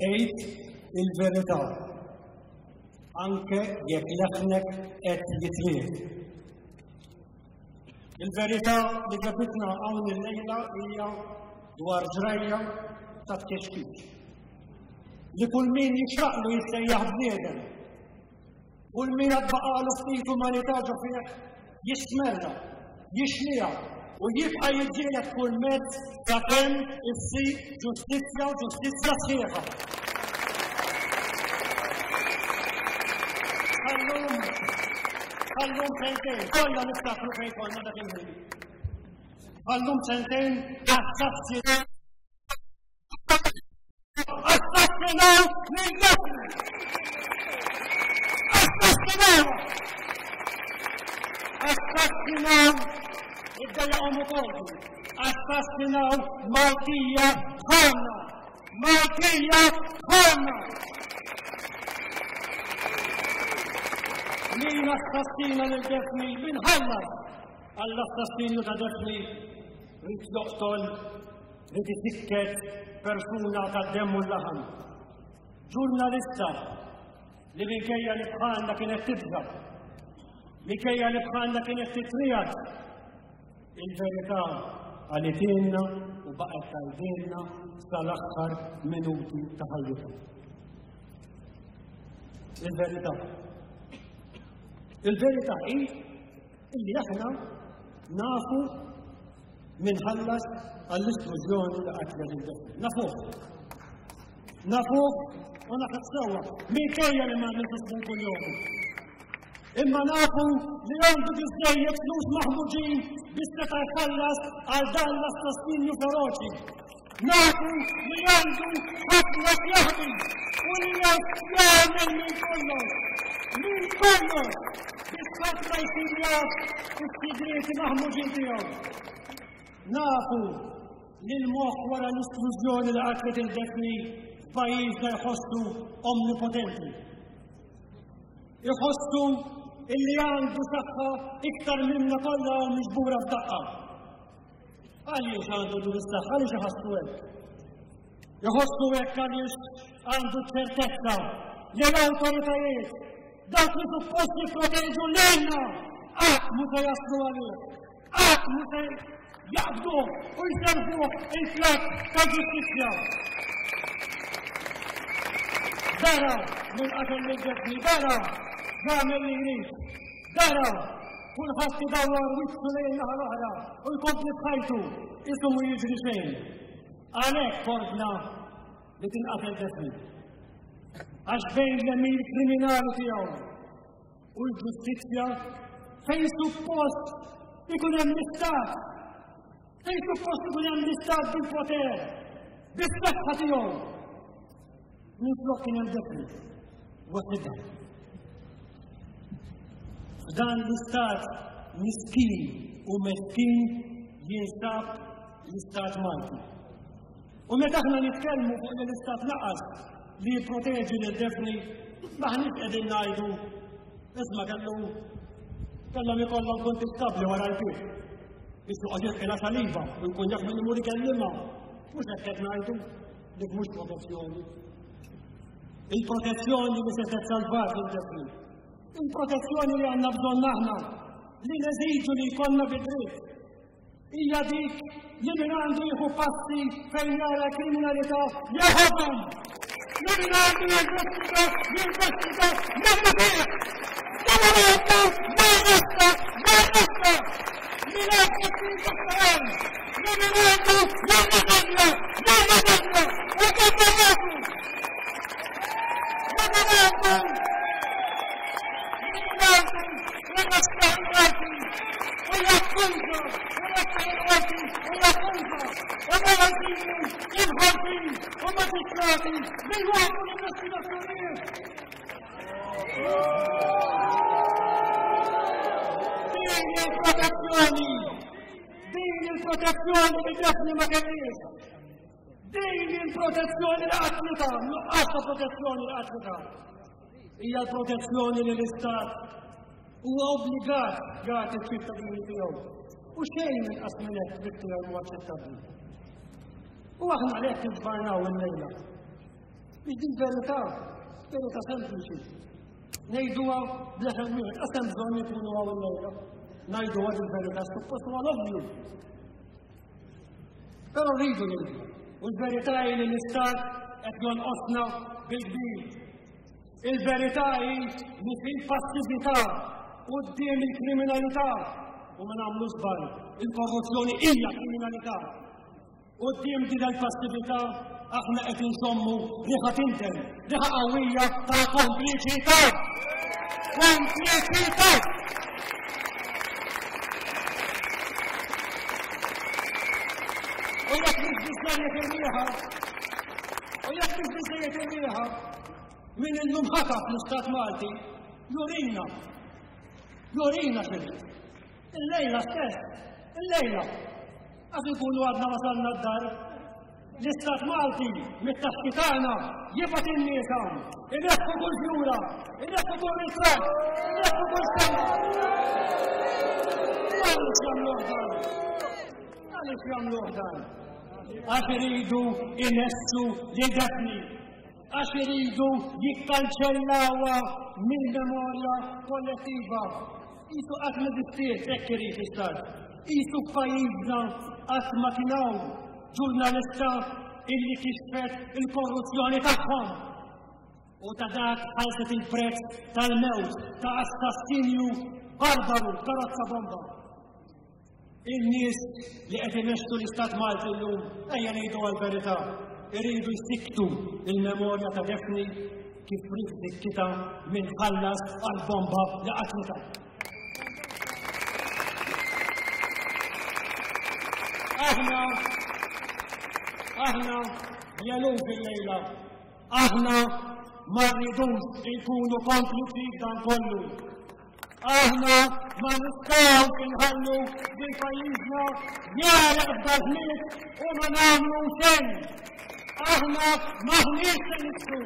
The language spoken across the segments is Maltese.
Għid il-verità, anke jekk leħnek qed jitriegħed. Il-verità li ġabitna hawn illejla hija dwar ġrajja ta' tkexkix. Li kull min jixraqlu jissejjaħ bniedem Kull min għad baqagħlu ftit umanità ġo fih jistmerrha, jixliha u jibqa' jiġġieled kull mezz sakemm issir ġustizzja u ġustizzja sħiħa. Għallum, għallum sentejn, kollha niftakru fejn konna dak il-ħin. Għallum sentejn assassi Assassinaw lil Daphne! Assassinaw! Assassinaw id-dejjaqhom ukoll. Assassinaw Maltija bħalna! Maltija bħalna! Min assassina lil Daphne min ħallas għall-assassinju ta' Daphne ried joqtol li tisikket persuna tad-demm u l-laħam. Ġurnalista li minkejja li bħalna kienet tibża, minkejja li bħalna kienet titriegħed, il-verità qalitilna u baqgħet tgħidilna sal-aħħar minuti ta' ħajjitha. Il-verità. Il-verità hi illi aħna nafu min ħallas għall-isplużjoni li qatlet lil Daphne. Nafuh. Nafuh u nafuh sewwa, minkejja li ma għamiltux minn kuljum. Imma nafu li għandu biżżejjed flus maħmuġin biex seta' jħallas għal dan l-assassinju feroċi. Nafu li għandu ħafna x'jaħbi u li jagħmel minn kollox, minn kollox biex ħadd ma jsir jaf is-sigrieti maħmuġin tiegħu. Nafu li l-moħħ wara l-isplużjoni li qatlet il-Daphne f'pajjiżna jħossu omnipotenti. Iħossu illi għandu saħħa iktar minna kollha hawn miġbura f'daqqa. Għaliex għandu din is-saħħa, għaliex iħossu hekk? Iħossu hekk għaliex għandu ċertezza li l-awtoritajiet dawk li suppost jipproteġu lilna qatt mhu se jaslu għalih, qatt mhu se jaqbduh u jservuh il-platt ta' ġustizzja. Dara minn qatel lil Ġesni, dara jagħmel li jrid, dara Kulħadd idawwar wiċċu lejn in-naħa l-oħra u jkompli b'ħajtu qisu mhu jiġri xejn. Għalhekk ordna li tinqatel Daphne. Għax bejn l-għemil kriminali tiegħu u l-ġustizzja fejn suppost ikun hemm l-istat, fejn suppost ikun hemm l-istat bil-poter, bis-saħħa tiegħu. Minflok kien hemm Daphne waħedha. F'dan l-istat miskin u meskin jinsab l-istat Malti. U meta aħna nitkellmu fuq li l-istat naqas li jipproteġi lil Daphne, m'aħniex qegħdin ngħidu isma' kellu kellhom ikollhom kuntistabbli wara l-bieb biex joqgħod jilqilha saliva u jkun jaf min imur ikellimha. Mhux hekk qed ngħidu, dik mhux protezzjoni. Il-protezzjoni li setgħet salvat lil Daphne. Il-protezzjoni li għandna bżonn aħna li neżiġu li jkollna bid-dritt. Hija dik li min għandu jieħu passi fejn jara kriminalità jeħodhom. Li min għandu jinvestiga, jinvestiga, minnu fih. Marresta, marresta, marresta. Min għandu jinvestiga, li min għandu jirriżenja, jirriżenja, u kif Din il-protezzjoni li Daphne ma kellhiex. Din il-protezzjoni li qatlitha, nuqqas ta' protezzjoni li qatlitha. Hija l-protezzjoni li l-Istat huwa obbligat jagħti ċ-ċittadini tiegħu. U xejn inqas minn hekk trid tiegħu huwa aċċettabbli. U aħna għalhekk inġbarnaw illejla. Biex din verità, verità sempliċi. Ngħiduha b'leħen wieħed, qas hemm bżonn ikunu hawn illejla. Ngħiduha din verità suppost huwa l-ovvju. Però rridu ngħidu. U l-verità hi li l-istat qed jonqosna bil-kbir. Il-verità hi li fil-passività quddiem il-kriminalità u ma nagħmlu żball, il-korruzzjoni hija kriminalità. Quddiem din il-passività aħna qed insommu riħa tinten, riħa qawwija ta' kompliċità. Kompliċità! U jekk mhux biżżejjed ir-riħa, u jekk mhux biżżejjed ir-riħa, min illum ħataf l-Istat Malti, jurina, jurina x'irid. Illejla stess, illejla, għax inkunu għadna wasalna d-dar, l-Istat Malti mit-taxxi tagħna jibgħat in-nies hawn, ineħħu kull fjura, ineħħu kull ritratt, ineħħu kull sema. Għaliex jagħmluh dan? Għaliex jagħmluh dan? Għax iridu inessu lil Daphne għax iridu jikkanċellawha mill-memorja kollettiva. Qisu qatt m'eżistiet hekk irid l-Istat. Qisu f'pajjiżna qatt ma kien hawn ġurnalista illi kixfet il-korruzzjoni tagħhom. U ta' dak ħallset il-prezz tal-mewt ta' assassinju barbaru karozza bomba. In-nies li qed imexxu l-Istat Malti llum, ejja ngħidu għall-verità, iridu jsikktu l-memorja ta' Daphne kif ried isikkitha min ħallas għall-bomba li qatlitha. Aħna, aħna l-eluf illejla, aħna ma rridux inkunu kompliċi f'dan kollu. Aħna ma nistgħux inħallu lil pajjiżna jagħraq f'dażmiet u ma nagħmlu xejn. Aħna m'aħniex se nibku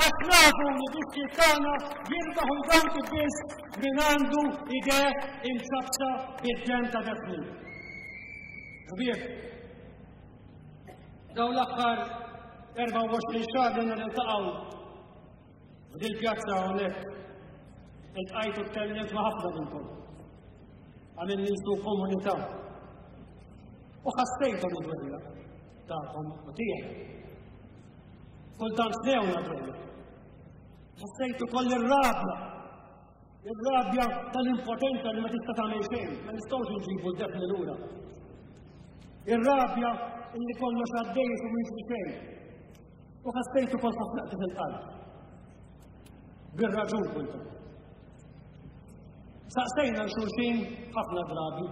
għax nafu li biċċiet tagħna jirbaħu jgawdu biss min għandu idejh imċappsa bid-demm ta' Daphne. Ħbieb, dawn l-aħħar 24 xahar li niltaqgħu F'dil-pjazza hawnhekk iltqajt u tkellimt ma' ħafna minnkom. Għamilni nsu komunità. U ħassejthom id-dwejja tagħkom u tiegħi. Kultant snewna dwejja. Ħassejt ukoll ir-rabja. Ir-rabja tal-impotenza li ma tista' tagħmel xejn, ma nistgħux inġibu d-defni lura. Ir-rabja illi kollox għaddej u mhux xejn. U ħassejt ukoll ħafna qtigħ il-qalb. Bir-raġun kultant. Saqsejna l-xulxin ħafna drabi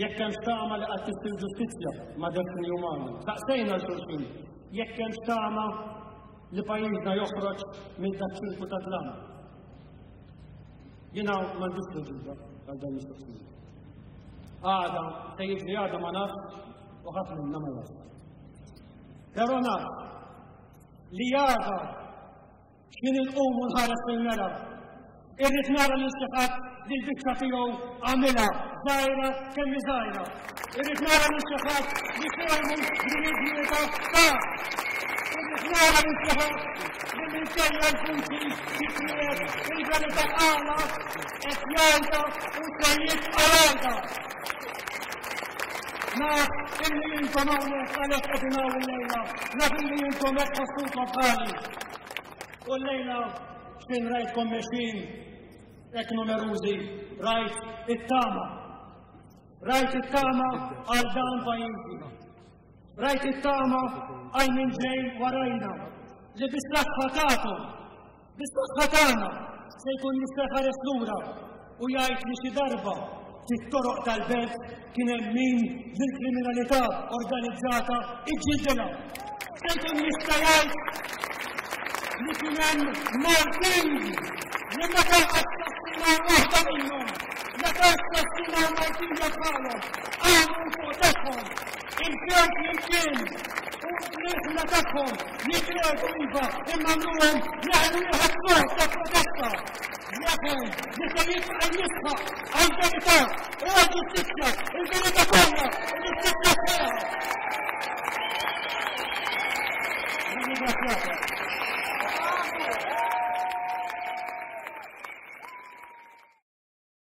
jekk hemm tama li qatt issir ġustizzja ma' Daphne Umana. Saqsejna l-xulxin jekk hemm tama li pajjiżna joħroġ minn dak ċirku ta' dlam. Jiena m'għandix tweġiba għal dan mistoqsija. Għada, se jiġri għada ma nafx u ħadd minna ma jaf. Però naf li għada x'ħin inqum u nħares fil-mera. Irrid nara lil xi ħadd li l-biċċa tiegħu għamilha żgħira kemm hi żgħira. Irrid nara lil xi ħadd li sehmu din il-ġlieda ta. Irrid nara lil xi ħadd li minkejja l-vuċi titqiegħed il-verità għala qed jgħidha u se jibqa' jgħidha. Naf illi intom hawnhekk għalhekk qegħdin hawn illejla, naf illi intom hekk tħossukom bħali. U llejla x'kien rajtkom mexjin hekk numerużi, rajt it-tama. Rajt it-tama għal dan pajjiżi. Rajt it-tama għal min ġej warajna li bis-saħħa tagħkom Bis-saħħa tagħna se jkun jista' jħares lura u jgħid li xi darba fit-toroq tal-belt kien hemm min lill-kriminalità organizzata iġġildilha. Se jkun jista' jgħid li kien hemm Maltin li meta assassinaw waħda minnhom, meta assassinaw Maltija bħalhom, qamu fuq tagħhom, imxew flimkien u l-iħna tagħhom Jitqiegħdu iva, imma għamluhom leħen wieħed sod ta' protesta. Leħen li se jibqa' jisħaq għall-verità u għall-ġustizzja, il-verità kollha, il-ġustizzja sħiħa. Nirringrazzjakom.